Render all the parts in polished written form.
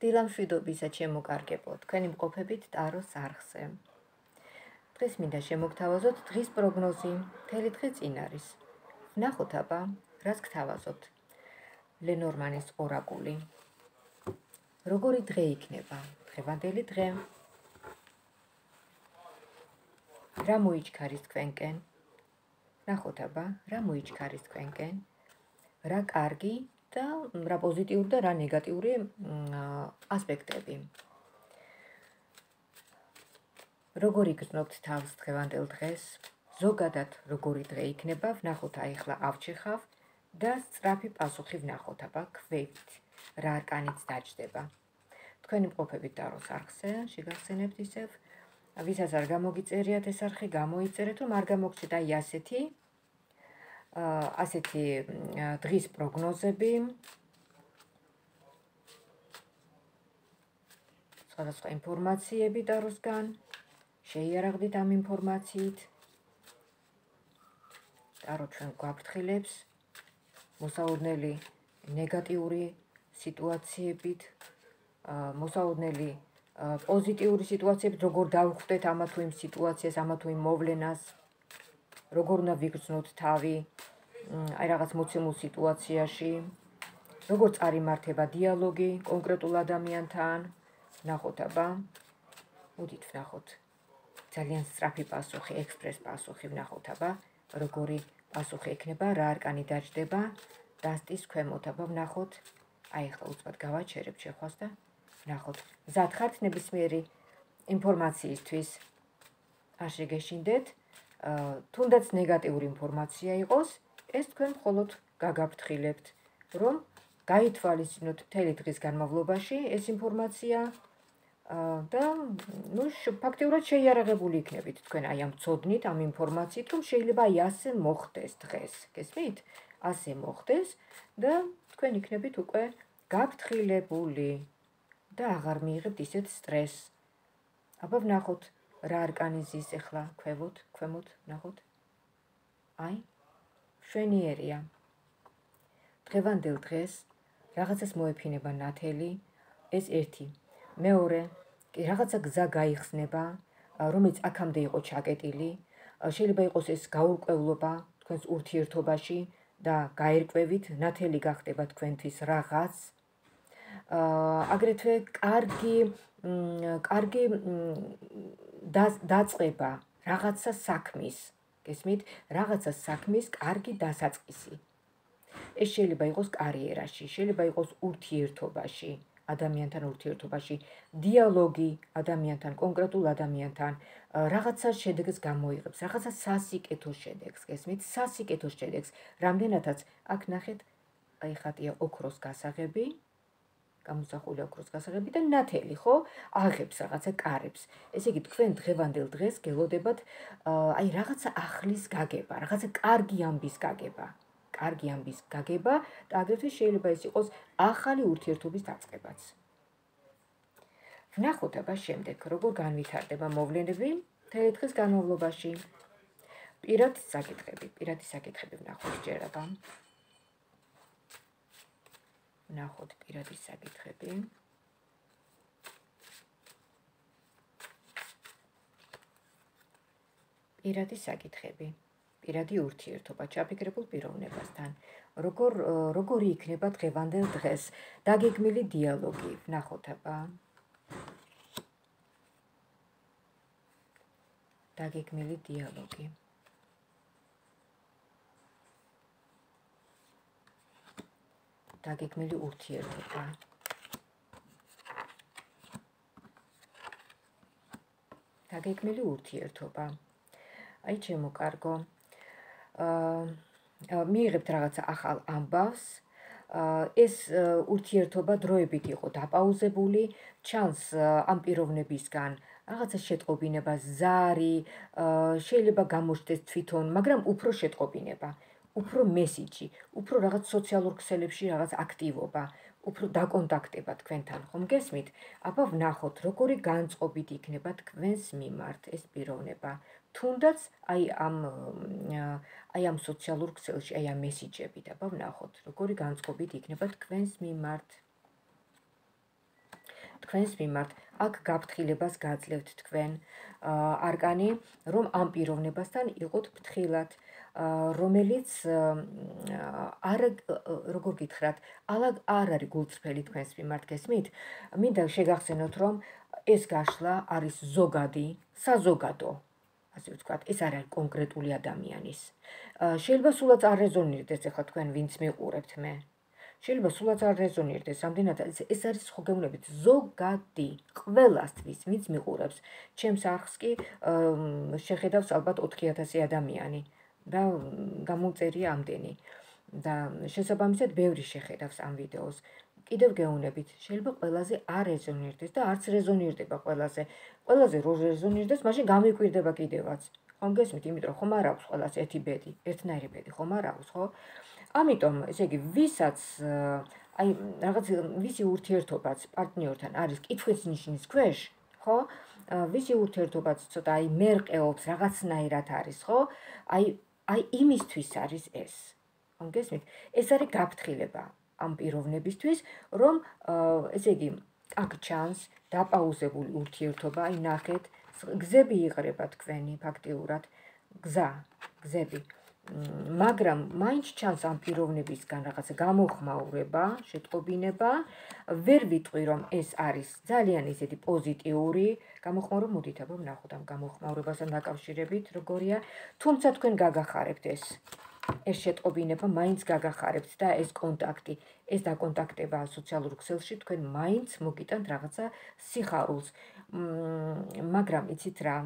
დილამშვიდობისა ჩემო კარგებო, თქვენი მყოფებით ტაროს არხზე. დღეს მინდა შემოგთავაზოთ დღის პროგნოზი, მთელი დღე წინ არის. ვნახოთ აბა, რას გთავაზობთ. ლენორმანის ორაკული. როგორი დღე იქნება, დღევანდელი დღე. რა მოიჩქარის თქვენკენ? ვნახოთ აბა, რა მოიჩქარის თქვენკენ? რა კარგი და რა პოზიტიური და რა ნეგატიური ასპექტები. როგორი გრძნობთ თავს დღევანდელ დღეს? ზოგადად როგორი დღე იქნება, ვნახოთ ახლა ავჩეხავ და სწრაფი პასუხი ვნახოთ აბა ქვევით, რა არკანიც დაჯდება. თქვენი მყოფებით ტაროს არხზე, შეგახსენებთ ისევ, ვისაც არ გამოგიწერიათ ეს არხი, გამოიწერეთ, რომ არ გამოგჩნდეთ აი ასეთი დღის პროგნოზები, სხვადასხვა ინფორმაციები ტაროსგან, შეიარაღდით ამ ინფორმაციით. ტარო ჩვენ გვაფრთხილებს მოსაოდნელი ნეგატიური სიტუაციებით, მოსაოდნელი პოზიტიური სიტუაციებით, როგორ დავხვდეთ ამა თუ იმ სიტუაციას, ამა თუ იმ მოვლენას, როგორ უნდა ვიგრძნოთ თავი აი რაღაც მოცემულ სიტუაციაში, როგორ წარიმართება დიალოგი კონკრეტულ ადამიანთან. ვნახოთ აბა, მოდით ვნახოთ ძალიან სწრაფი პასუხი, ექსპრეს პასუხი ვნახოთ აბა, როგორი პასუხი ექნება, რა არკანი დაჯდება, დასტის ქვემოთ აბა ვნახოთ. აი ახლა უცბად გავაჩერებ შეხვას და ვნახოთ. მზად ხართ ნებისმიერი ინფორმაციისთვის? არ შეგეშინდეთ, თუნდაც ნეგატიური ინფორმაცია იყოს, ეს თქვენ მხოლოდ გაგაფრთხილებთ, რომ გაითვალისწინოთ მთელი დღის განმავლობაში ეს ინფორმაცია და ფაქტიურად შეიარაღებული იქნებით თქვენ აი ამ ცოდნით, ამ ინფორმაციით, რომ შეიძლება აი ასე მოხდეს დღეს. გესმით? ასე მოხდეს და თქვენ იქნებით უკვე გაფრთხილებული და აღარ მიიღებთ ისეთ სტრესს. აბა ვნახოთ რა არკანი ზის ახლა ქვემოთ ვნახოთ. აი, მშვენიერია. დღევანდელ დღეს რაღაცას მოეფინება ნათელი, ეს ერთი. მეორე, კი რაღაცა გზა გაიხსნება, რომელიც აქამდე იყო ჩაკეტილი, შეიძლება იყოს ეს გაურკვევლობა თქვენს ურთიერთობაში და გაერკვევით ნათელი გახდება თქვენთვის რაღაც. აგრეთვე კარგი დაწყება რაღაცა საქმის, გესმით? რაღაცა საქმის კარგი დასაწყისი. ეს შეიძლება იყოს კარიერაში, შეიძლება იყოს ურთიერთობაში, ადამიანთან ურთიერთობაში, დიალოგი ადამიანთან, კონკრეტულ ადამიანთან, რაღაცა შედეგს გამოიღებს, რაღაცა სასიკეთო შედეგს, გესმით? სასიკეთო შედეგს, რამდენადაც აქ ნახეთ, აი ხატია ოქროს გასაღები, გამოსახული ოქროს გასაღები და ნათელი, ხო? აღებს რაღაცა კარებს. ესე იგი, თქვენ დღევანდელ დღეს გელოდებათ აი რაღაცა ახლის გაგება, რაღაცა კარგი ამბის გაგება. კარგი ამბის გაგება და აგრეთვე შეიძლება ეს იყოს ახალი ურთიერთობის დაწყებაც. ვნახოთ აბა შემდეგ, როგორ განვითარდება მოვლენები მთელი დღის განმავლობაში. პირადი საკითხები ვნახოთ ჯერ აბა. ვნახოთ პირადი საკითხები. პირადი საკითხები. პირადი ურთიერთობა ჩაფიქრებულ პიროვნებასთან. როგორი იქნება დღევანდელ დღეს? დაგეგმილი დიალოგი. ვნახოთ აბა. დაგეგმილი დიალოგი. დაგეგმილი ურთიერთობა. დაგეგმილი ურთიერთობა. აი ჩემო კარგო. მიიღებთ რაღაცა ახალ ამბავს, ეს ურთიერთობა დროებით იყო დაპაუზებული, ჩანს ამ პიროვნებისგან რაღაცა შეტყობინება, ზარი, შეიძლება გამოჩნდეს თვითონ, მაგრამ უფრო შეტყობინება, უფრო მესიჯი, უფრო რაღაც სოციალურ ქსელებში რაღაც აქტივობა, უფრო დაკონტაქტება თქვენთან, ხომ გესმით? აბა ვნახოთ, როგორი განწყობით იქნება თქვენს მიმართ ეს პიროვნება. თუნდაც აი ამ სოციალურ ქსელში, აი ამ მესიჯებით, აბა ვნახოთ, როგორი განწყობით იქნება თქვენს მიმართ. თქვენს მიმართ. აქ გაფრთხილებას გაძლევთ თქვენ არკანი, რომ ამ პიროვნებასთან იყოთ ფრთხილად, რომელიც არ როგორ გითხრათ, არ არის გულწრფელი თქვენს მიმართ, გესმით? მინდა შეგახსენოთ, რომ ეს გაშლა არის ზოგადი, საზოგადო, ასე ვთქვათ, ეს არ არის კონკრეტული ადამიანის. შეიძლება სულაც არ რეზონირდეს ახლა თქვენ ვინც მიყურებთ მე. შეიძლება სულაც არ რეზონირდეს, რამდენადაც ეს არის ხო გეუბნებით ზოგადი, ყველასთვის, ვინც მიყურებს. ჩემს არხს კი შეხედავს ალბათ 4000 ადამიანი და გამომწერია ამდენი. და შესაბამისად ბევრი შეხედავს ამ ვიდეოს. კიდევ გეუბნებით, შეიძლება ყველაზე არ რეზონირდეს და არც რეზონირდება ყველაზე. ყველაზე რო რეზონირდეს, მაშინ გამიკვირდება კიდევაც. ხომ გესმით, იმიტომ ხომ არ აქვს ყველას ერთი ბედი, ერთნაირი ბედი ხომ არ აქვს, ხო? ამიტომ, ესე იგი, ვისაც აი რაღაც ვისი ურთიერთობაც პარტნიორთან არის კითხვის ნიშნის ქვეშ, ხო? ვისი ურთიერთობაც ცოტა აი მერყეობს, რაღაცნაირად არის, ხო? აი იმისთვის არის ეს. ხომ გესმით? ეს არის გაფრთხილება ამ პიროვნებისთვის, რომ ესე იგი, აქ ჩანს დაპაუზებული ურთიერთობა, აი ნახეთ, გზები იყრება თქვენი ფაქტიურად, გზები. მაგრამ მაინც ჩანს ამ პიროვნებისგან რაღაცა გამოხმაურება, შეტყობინება, ვერ ვიტყვი რომ ეს არის ძალიან ისეთი პოზიტიური გამოხმაურება, მოდით აბა ვნახოთ ამ გამოხმაურებასთან დაკავშირებით როგორია, თუმცა თქვენ გაგახარებთ ეს შეტყობინება მაინც გაგახარებთ და ეს კონტაქტი, ეს დაკონტაქტება სოციალურ ქსელში თქვენ მაინც მოგიტანთ რაღაცა სიხარულს. მაგრამ იცით რა,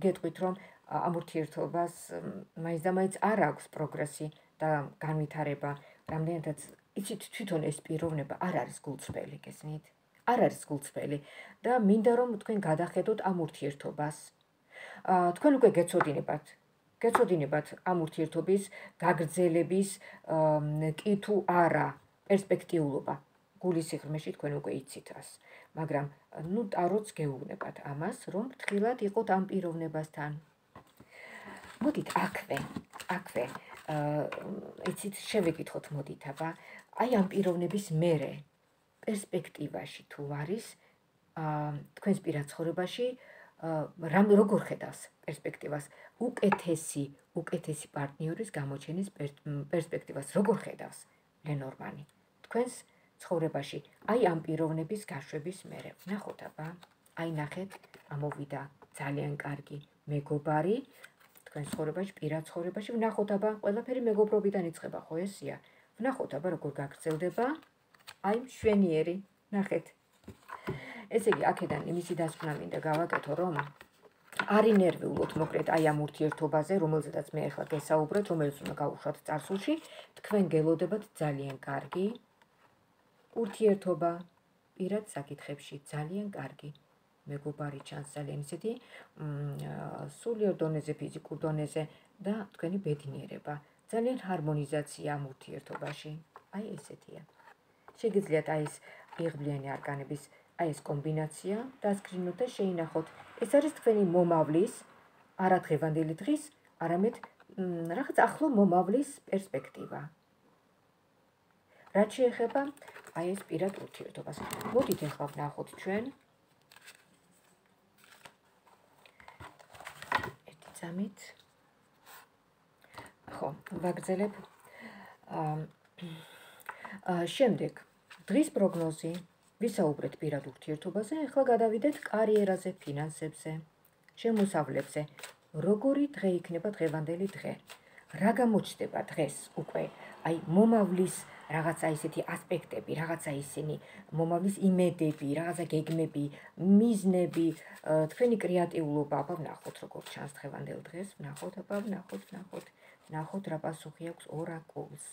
გეტყვით რომ ამ ურთიერთობას მაინც და მაინც არ აქვს პროგრესი და განვითარება, რამდენადაც იცით თვითონ ეს პიროვნება არ არის გულწრფელი, გესმით? არ არის გულწრფელი და მინდა რომ თქვენ გადახედოთ ამ ურთიერთობას. თქვენ უკვე გეცოდინებათ ამ ურთიერთობის გაგრძელების კი თუ არა პერსპექტიულობა. გულის სიღრმეში თქვენ უკვე იცით ას. მაგრამ ნუ ტაროც გეუბნებათ ამას, რომ ფრთხილად იყოთ ამ პიროვნებასთან. მოდით აქვე იცით შევეკითხოთ მოდით აბა აი ამ პიროვნების მერე პერსპექტივაში თუ არის თქვენს პირად ცხოვრებაში როგორ ხედავს პერსპექტივას უკეთესი პარტნიორის გამოჩენის პერსპექტივას როგორ ხედავს ლენორმანი თქვენს ცხოვრებაში აი ამ პიროვნების გაშვების მერე ნახოთ აბა აი ნახეთ ამოვიდა ძალიან კარგი მეგობარი თქვენს ცხოვრებაში, პირად ცხოვრებაში, ვნახოთ აბა, ყველაფერი მეგობრობიდან იწყება, ხო ესია? ვნახოთ აბა, როგორ გაგრძელდება, აი, მშვენიერი, ნახეთ. ესე იგი, აქედან იმისი დასკვნა მინდა გავაკეთო, რომ არ ინერვიულოთ მოკლედ აი ამ ურთიერთობაზე, რომელზედაც მე ახლა გესაუბრეთ, რომელიც უნდა გავუშვათ წარსულში, თქვენ გელოდებათ ძალიან კარგი ურთიერთობა, პირად საკითხებში, ძალიან კარგი. მეგობარი ჩანს ძალიან ისეთი სულიერ დონეზე, ფიზიკურ დონეზე და თქვენი ბედნიერება. ძალიან ჰარმონიზაცია ამ ურთიერთობაში. აი ესეთია. შეგიძლიათ აი ეს იღბლიანი არკანების აი ეს კომბინაცია დასკრინოთ და შეინახოთ. ეს არის თქვენი მომავლის, არა დღევანდელი დღის, არამედ რაღაც ახლო მომავლის პერსპექტივა. რაც შეეხება აი ეს პირად ურთიერთობას. მოდით ახლა ვნახოთ ჩვენ წამით. ხო, ვაგრძელებ. შემდეგ დღის პროგნოზი, ვისაუბრეთ პირად ურთიერთობაზე, ახლა გადავიდეთ კარიერაზე, ფინანსებზე, შემოსავლებზე. როგორი დღე იქნება დღევანდელი დღე? რა გამოჩნდება დღეს უკვე? აი მომავლის რაღაცა ისეთი ასპექტები, რაღაცა ისინი მომავლის იმედები, რაღაცა გეგმები, მიზნები, თქვენი კრეატიულობა, აბა ვნახოთ როგორ ჩანს დღევანდელ დღეს, ვნახოთ აბა, ვნახოთ რა პასუხი აქვს ორაკულს.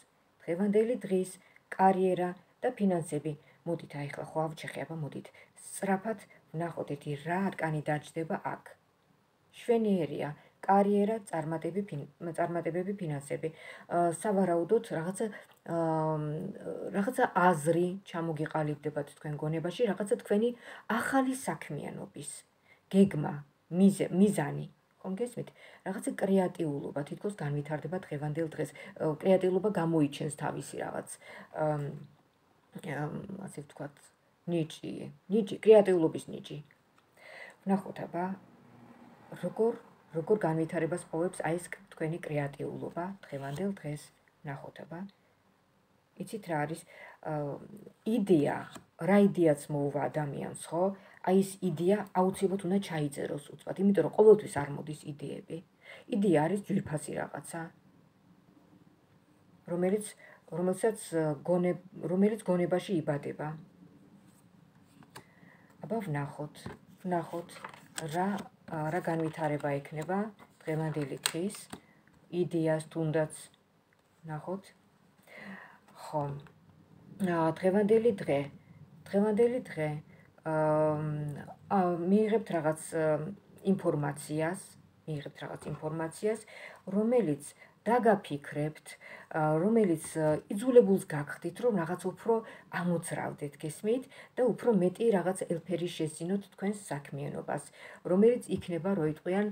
დღევანდელი დღის კარიერა და ფინანსები. მოდით აი ახლა ხო ავჩეხე, აბა მოდით სწრაფად ვნახოთ ერთი რა არკანი დაჯდება აქ. შვენიერია კარიერა, წარმატებები, ფინანსები. სავარაუდოდ რაღაცა აზრი ჩამოგიყალიბდებათ თქვენ გონებაში, რაღაცა თქვენი ახალი საქმიანობის გეგმა, მიზანი. ხომ გესმით? რაღაცა კრეატიულობა თითქოს განვითარდება დღევანდელ დღეს. კრეატიულობა გამოიჩენს თავისი რაღაც ასე ვთქვათ, ნიჭი, კრეატიულობის ნიჭი. ვნახოთ აბა, როგორ განვითარებას პოვებს აი ეს თქვენი კრეატიულობა დღევანდელ დღეს. ვნახოთ აბა. იცით რა არის იდეა, რა იდეაც მოუვა ადამიანს, ხო? აი ეს იდეა აუცილებლად უნდა ჩაიწეროს უცბად, იმიტომ რომ ყოველთვის არ მოდის იდეები. იდეა არის ძვირფასი რაღაცა, რომელიც გონებაში იბადება. აბა ვნახოთ რა განვითარება ექნება დღევანდელი დღის იდეას თუნდაც ვნახოთ. ხო, დღევანდელი დღე მიიღებთ რაღაც ინფორმაციას, რომელიც დაგაფიქრებთ, რომელიც იძულებულს გაგხდით, რომ რაღაც უფრო ამოძრავდეთ, გესმით და უფრო მეტი რაღაც ელფერი შეძინოთ თქვენს საქმიანობას, რომელიც იქნება როიტყვიან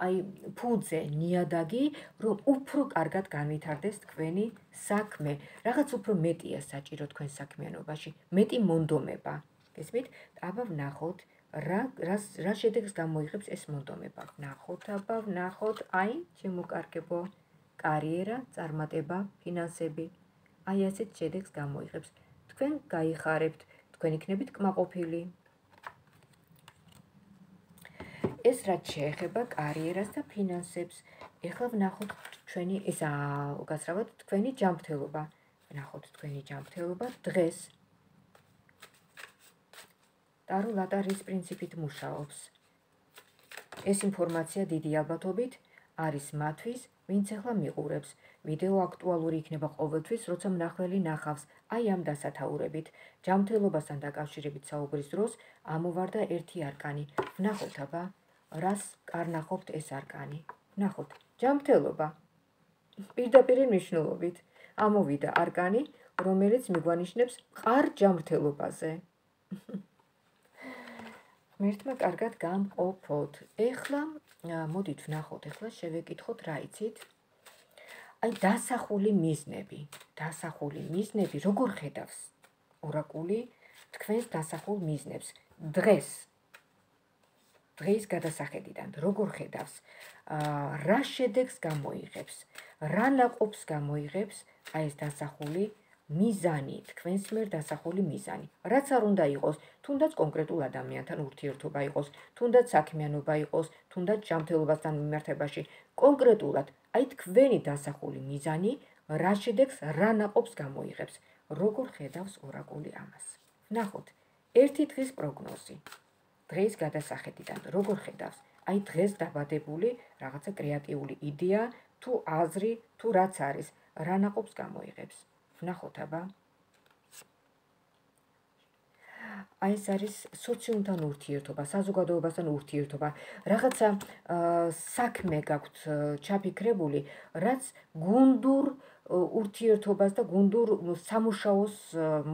აი ფუძე, ნიადაგი, რომ უფრო კარგად განვითარდეს თქვენი საქმე, რაღაც უფრო მეტია საჭირო თქვენ საქმიანობაში, მეტი მონდომება, გესმით? აბა ვნახოთ რა შედეგს გამოიღებს ეს მონდომება. ვნახოთ, აი, შემოკარგებო, კარიერა, წარმატება, ფინანსები. აი ასეთ შედეგს გამოიღებს. თქვენ გაიხარებთ, თქვენ იქნებით კმაყოფილი. ეს რაც შეეხება კარიერას და ფინანსებს. ეხლა ვნახოთ ჩვენი გასრავად თქვენი ჯანმრთელობა. ვნახოთ თქვენი ჯანმრთელობა დღეს. ტარო ლატარის პრინციპით მუშაობს. ეს ინფორმაცია დიდი ალბათობით არის მათთვის, ვინც ახლა მიყურებს. ვიდეო აქტუალური იქნება ყოველთვის, როცა მნახველი ნახავს, აი ამ დასათაურებით. ჯანმრთელობასთან დაკავშირებით საუბრის დროს ამოვარდა ერთი არკანი. ვნახოთ აბა, რას კარნახობთ ეს არკანი. ვნახოთ, ჯანმრთელობა. პირდაპირ მნიშვნელობით ამოვიდა არკანი, რომელიც მიგვანიშნებს მყარ ჯანმრთელობაზე. ღმერთმა კარგად გამყოფოთ. ეხლა მოდით ვნახოთ, ეხლა შევეკითხოთ რა იცით. აი დასახული მიზნები, როგორ ხედავს ორაკული თქვენს დასახულ მიზნებს დღის გადასახედიდან, როგორ ხედავს, რა შედეგს გამოიღებს, რა ნაყოფს გამოიღებს აი ეს დასახული მიზანი, თქვენს მიერ დასახული მიზანი. რაც არ უნდა იყოს, თუნდაც კონკრეტულ ადამიანთან ურთიერთობა იყოს, თუნდაც საქმიანობა იყოს, თუნდაც ჯანმრთელობასთან მიმართებაში, კონკრეტულად, აი თქვენი დასახული მიზანი, რა შედეგს, რა ნაყოფს გამოიღებს, როგორ ხედავს ორაკული ამას. ვნახოთ, ერთი დღის პროგნოზი. დღის გადასახედიდან, როგორ ხედავს, აი დღეს დაბადებული რაღაცა კრეატიული იდეა, თუ აზრი, თუ რაც არის, რა ნაყოფს გამოიღებს. ვნახოთ აბა. აი ეს არის სოციუმთან ურთიერთობა, საზოგადოებასთან ურთიერთობა, რაღაცა საქმე გაქვთ ჩაფიქრებული, რაც გუნდურ ურთიერთობას და გუნდურ სამუშაოს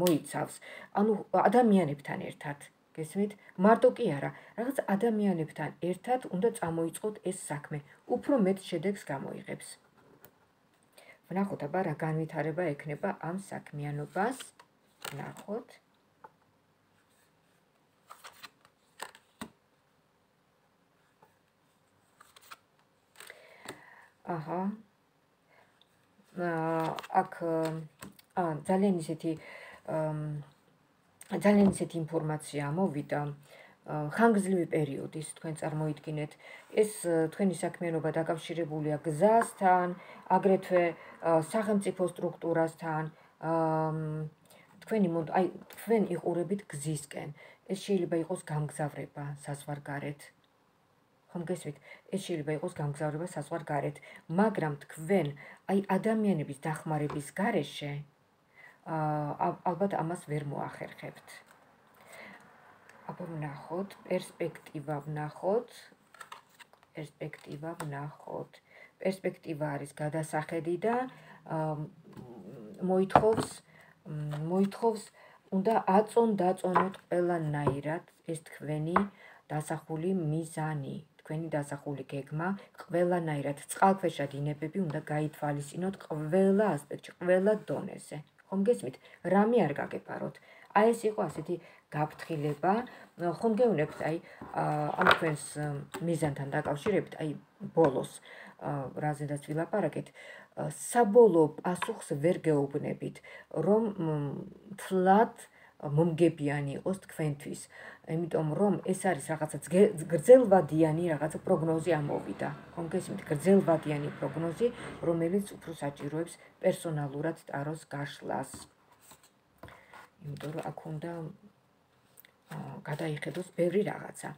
მოიცავს. ანუ ადამიანებთან ერთად, გესმით? მარტო კი არა, რაღაც ადამიანებთან ერთად უნდა წამოიწყოთ ეს საქმე, უფრო მეტ შედეგს გამოიღებს. ვნახოთ აბა რა განვითარება ექნება ამ საქმიანობას. ვნახოთ. აჰა. აქ ძალიან ისეთი ინფორმაცია მოვიდა. ხანგრძლივი პერიოდის თქვენ წარმოიდგინეთ, ეს თქვენი საქმიანობა დაკავშირებულია გზასთან, აგრეთვე სახელმწიფო სტრუქტურასთან, თქვენ იყურებით გზისკენ. ეს შეიძლება იყოს გამგზავრება საზღვარგარეთ. ხომ გესმით? ეს შეიძლება იყოს გამგზავრება საზღვარგარეთ, მაგრამ თქვენ აი ადამიანების დახმარების გარეშე ალბათ ამას ვერ მოახერხებთ. აბა ვნახოთ, პერსპექტივა ვნახოთ. პერსპექტივა არის გადასახედი და მოითხოვს უნდა დაწონოთ ყველანაირად ეს თქვენი დასახული მიზანი, თქვენი დასახული გეგმა, ყველანაირად წყალქვეშა დინებები უნდა გაითვალისწინოთ ყველა ასპექტში, ყველა დონეზე. ხომ გესმით? რამე არ გაგეპაროთ. აი ეს იყო ასეთი გაფრთხილება. ხომ გეუბნებთ, აი ამ თქვენს მიზანთან დაკავშირებით, აი ბოლოს რაზედაც ვილაპარაკეთ, საბოლოო პასუხს ვერ გეუბნებით, რომ თლად მომგებიანი იყოს თქვენთვის, იმიტომ რომ ეს არის რაღაცა გრძელვადიანი რაღაცა პროგნოზი ამოვიდა. ხომ გესმით, გრძელვადიანი პროგნოზი, რომელიც უფრო საჭიროებს პერსონალურად ტაროს გაშლას. იმიტომ რომ აქ უნდა გადაიხედოს ბევრი რაღაცა.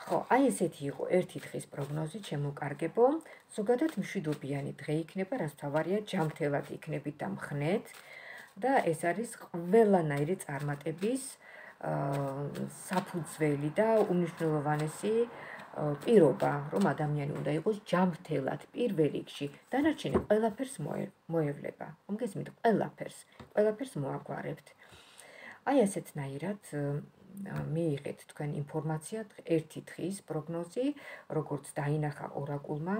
ხო, აი ესეთი იყო ერთი დღის პროგნოზი, ჩემო-კარგებო. ზოგადად მშვიდობიანი დღე იქნება, რაც თავარია ჯანმრთელად იქნებით და მხნეთ და ეს არის ყველანაირი წარმატების საფუძველი და უმნიშვნელოვანესი პირობა, რომ ადამიანი უნდა იყოს ჯანმრთელად პირველ რიგში. დანარჩენი ყველაფერს მოევლება. ხომ გესმით, ყველაფერს მოაგვარებთ. აი ასეთნაირად მიიღეთ თქვენ ინფორმაცია ერთი დღის პროგნოზი, როგორც დაინახა ორაკულმა.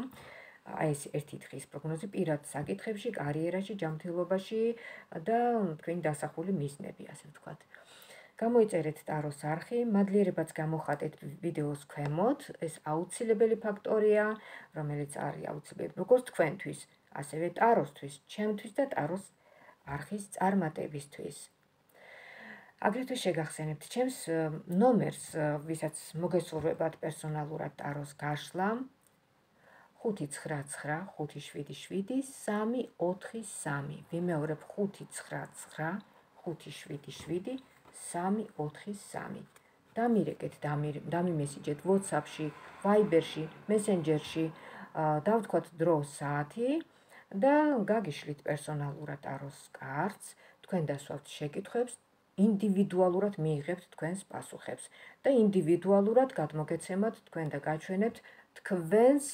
აი ეს ერთი დღის პროგნოზი პირად საკითხებში, კარიერაში, ჯანმრთელობაში და თქვენი დასახული მიზნები, ასე ვთქვათ. გამოიწერეთ ტაროს არხი, მადლიერებაც გამოხატეთ ვიდეოს ქვემოთ. ეს აუცილებელი ფაქტორია, რომელიც არის აუცილებელი როგორც თქვენთვის, ასევე ტაროსთვის, ჩემთვის და ტაროს არხის წარმატებისთვის. აგრეთვე შეგახსენებთ ჩემს ნომერს, ვისაც მოგესურვებათ პერსონალურად ტაროს გაშლა. 599577343. ვიმეორებ 599577343. დამირეკეთ, დამიმესიჯეთ WhatsApp-ში, Viber-ში, Messenger-ში, დავთქვათ დრო, საათი და გაგიშლით პერსონალურად ტაროს კარტს, თქვენ დასვავთ შეკითხვებს, ინდივიდუალურად მიიღებთ თქვენს პასუხებს და ინდივიდუალურად გადმოგეცემათ თქვენ და გაჩვენებთ თქვენს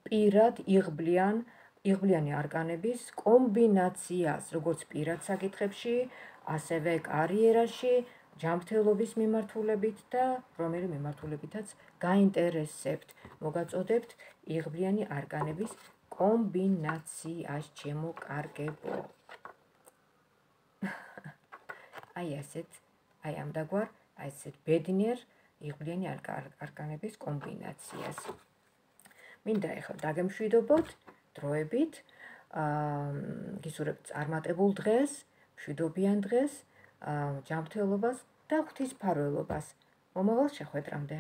პირად იღბლიანი არკანების კომბინაციას, როგორც პირად საკითხებში, ასევე კარიერაში, ჯანმრთელობის მიმართულებით და რომელი მიმართულებითაც გაინტერესებთ. მოგაწოდებთ იღბლიანი არკანების კომბინაციას, ჩემო-კარგებო. აი ამდაგვარ, აი ესეთ ბედნიერ იღბლიანი არკანების კომბინაციას. მინდა ეხლა დაგემშვიდობოთ დროებით, გისურვებთ წარმატებულ დღეს, მშვიდობიან დღეს, ჯანმრთელობას და ღვთისმფარველობას. მომავალ შეხვედრამდე.